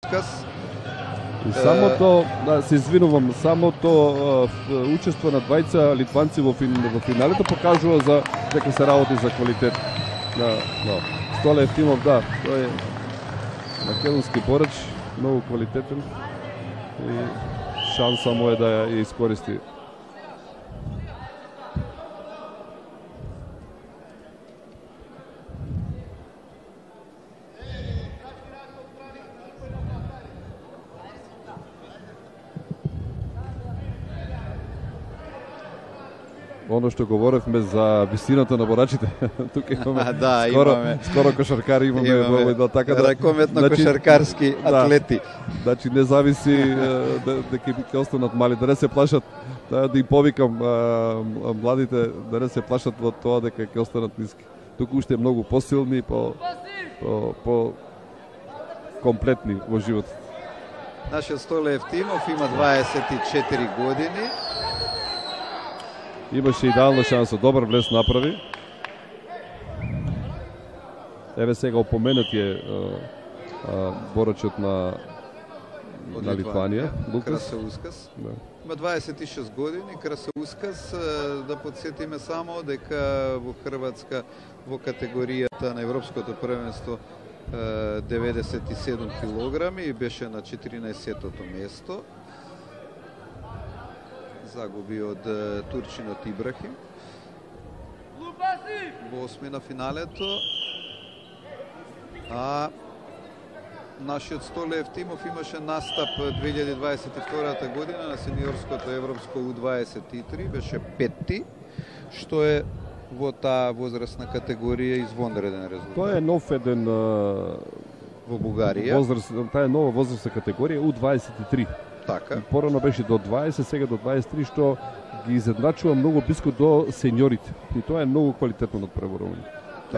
отказ. И самото, да, се извинувам, самото учество на двајца литванци во финалето покажува за дека се работи за квалитет. Столе Евтимов, да, тој е македонски борач, многу квалитетен и шанса му е да ја искористи. Оно што говоревме за висината на борачите, тука имаме скоро кошаркари имаме така да ракометно кошаркарски атлети. Значи не зависи дека ќе останат мали, да не се плашат, да им повикам младите да не се плашат во тоа дека ќе останат ниски. Тука уште е многу посилни, по комплетни во животот. Нашиот Столе Евтимов има 24 години. Имаше идеална шанса, добар влез направи. Еве сега опоменат е борачот на Литванија, Красаускас. Да. Има 26 години, Красаускас, да подсетиме само дека во Хрватска во категоријата на Европското првенство 97 килограми и беше на 14-тото место. Загуби од турчинот Ибрахим во осмина финалето, а нашиот Столе Евтимов имаше настап 2022 година на сениорското европско U23, беше петти, што е во таа возрастна категорија извонреден резултат. Тоа е нов еден во Бугарија. Таа е нова возрастна категорија U23. Така. Порано беше до 20, сега до 23, што ги изедначува многу близко до сениорите. И тоа е многу квалитетно надпреборување.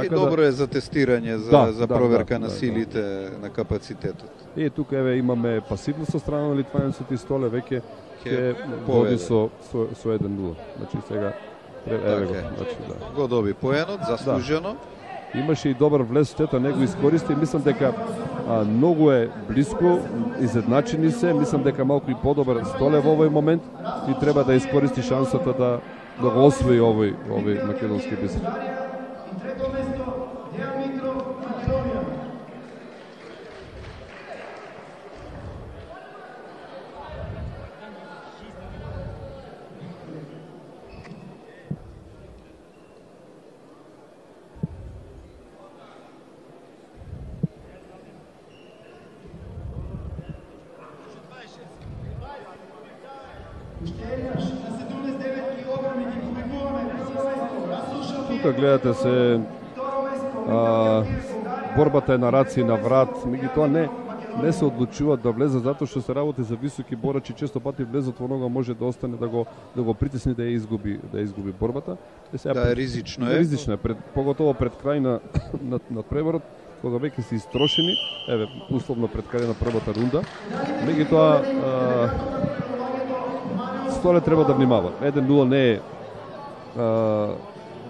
И добро е за тестирање, за проверка на силите, на капацитетот. И тука еве имаме пасивност со страна на литванецот и Столе веќе ќе води со 1-0. Значи сега еве го, значи да. Го доби поенот, заслужено. Имаше и добар влез, тета не го искористи. Мислам дека многу е близко, изедначени се. Мислам дека малку и подобар Столе во овој момент и треба да искористи шансата да го освои овој македонски бисер. Тука гледате се борбата е на раци и на врат, меѓутоа не се одлучуваат да влезат затоа што се работи за високи борачи, често пати влезот во нога може да остане да го притисне да ја изгуби борбата. Да, ризично е. Ризично е, поготово пред крај на преворот, кога веќе се истрошени, еве условно пред крај на првата рунда. Меѓутоа Столе треба да внимава. 1-0 не е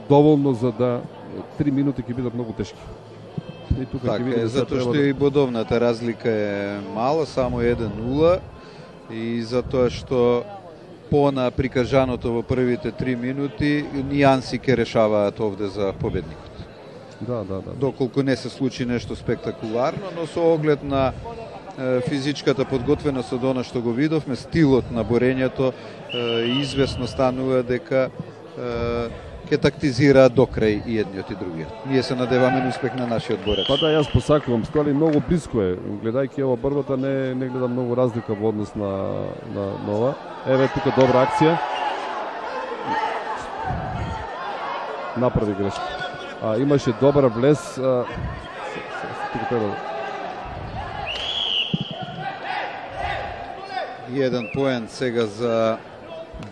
доволно за да 3 минути ќе бидат многу тешки. И тука така е, затоа што и бодовната разлика е мала, само 1-0 и затоа што на прикажаното во првите 3 минути нијанси ќе решаваат овде за победникот. Да. Доколку не се случи нешто спектакуларно, но со оглед на физичката подготвеност од она што го видовме, стилот на борењето извесно станува дека ќе тактизираат до крај и едниот и другиот. Ние се надеваме на успех на нашиот борач. Па да, јас посакувам, Столе многу близко е. Гледајќи ова борбата не гледам многу разлика во однос на ова. Еве тука добра акција. Направи грешка. Имаше добар влез. Тука треба. Еден поен сега за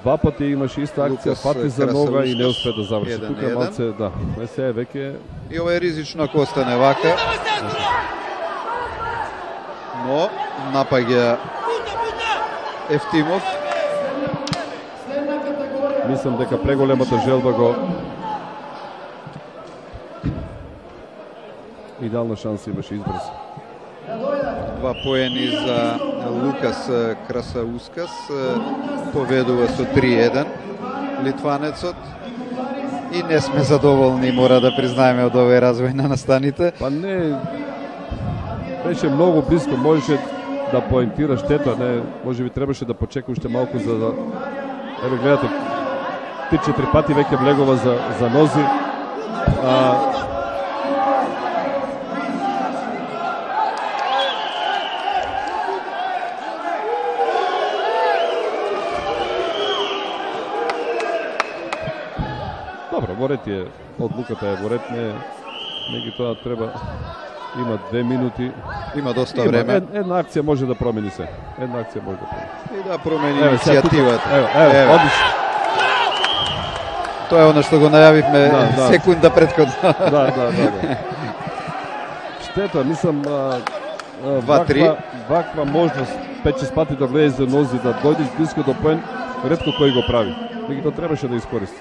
два пати имаше иста акција, фати за нога и не успе да заврши. Тука малце, да. Се веќе и ова е ризично ако остане вака. Но напаѓа Евтимов. Мислам дека преголемата желба го идеална шанса имаше избрз. 2 поени за Лукас Красаускас, победува со 3-1 литванецот. И не сме задоволни, мора да признаеме, од овој развој на настаните. Па не, беше многу близко, можеше да поентира, штета, не, може би требаше да почека уште малку за да... Еве гледате, 3-4 пати веќе влегува за нози. Добро, во ред е, одлуката е во ред, не тоа треба, има 2 минути. Има доста време. Една акција може да промени се. Една акција може да промени. И да промени иницијативата. Ево, одлично. Тоа е она што го најавивме секунда претходно. Да. Штета, мислам, 2-3. Ваква можност 5-6 пати да влезе за нози, да дојдеш близко до поен, ретко кој го прави. Меѓутоа требаше да искористи.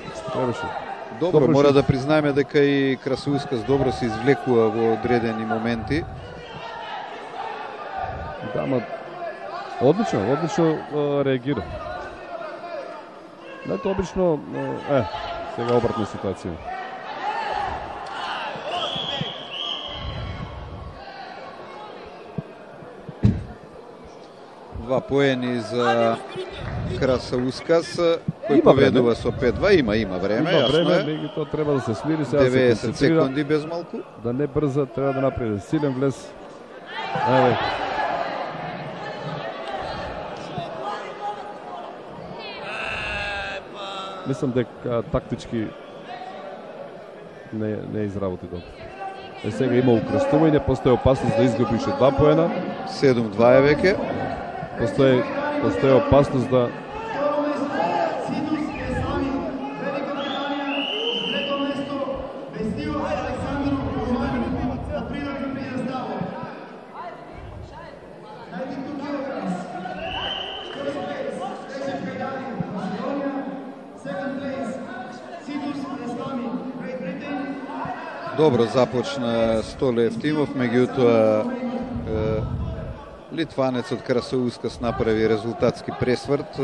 Добро, мора да признаеме дека и Красаускас добро се извлекува во одредени моменти. Да, ма одлично реагира. Знаете, обично, сега обратна ситуација. Два поени за Красаускас, кој победува со 5-2. Има време, јасно е. Меѓутоа треба да се смири, сега 90 секунди без малку. Да не брза, треба да направи силен влез. Мислам дека тактички не изработи добро. Сега има укрстување, постои опасност да изгуби уште 2 поена. 7-2 е веќе. Постои опасност да Добро започна Столе Евтимов, меѓутоа литванецот Красаускас направи резултатски пресврт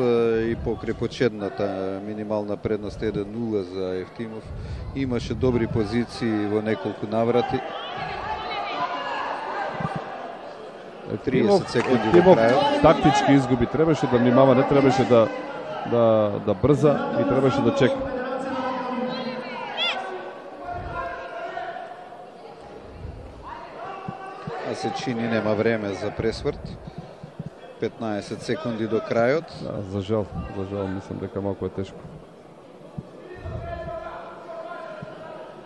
и покрај почетната минимална предност 1-0 за Евтимов. Имаше добри позиции во неколку наврати. 30 секунди до крајот. Тактички изгуби, требаше да внимава, не требаше да брза и требаше да чека. Се чини нема време за пресврт. 15 секунди до крајот. Да, за жал, мислам дека малку е тешко.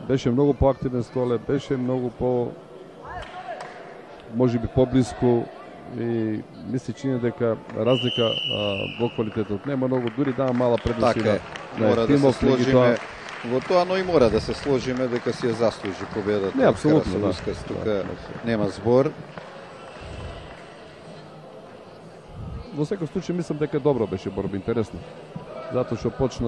Беше многу поактивен Столе, беше многу можеби поблиску и мисли чини дека разлика во квалитетот нема многу, дури дава мала предност така на мора да се сложиме во во тоа, но и мора да се сложиме дека си ја заслужи победата. Не, апсолутно, да. Тука нема збор. Во секој случај мислам дека добро беше борба, интересно. Затоа што почна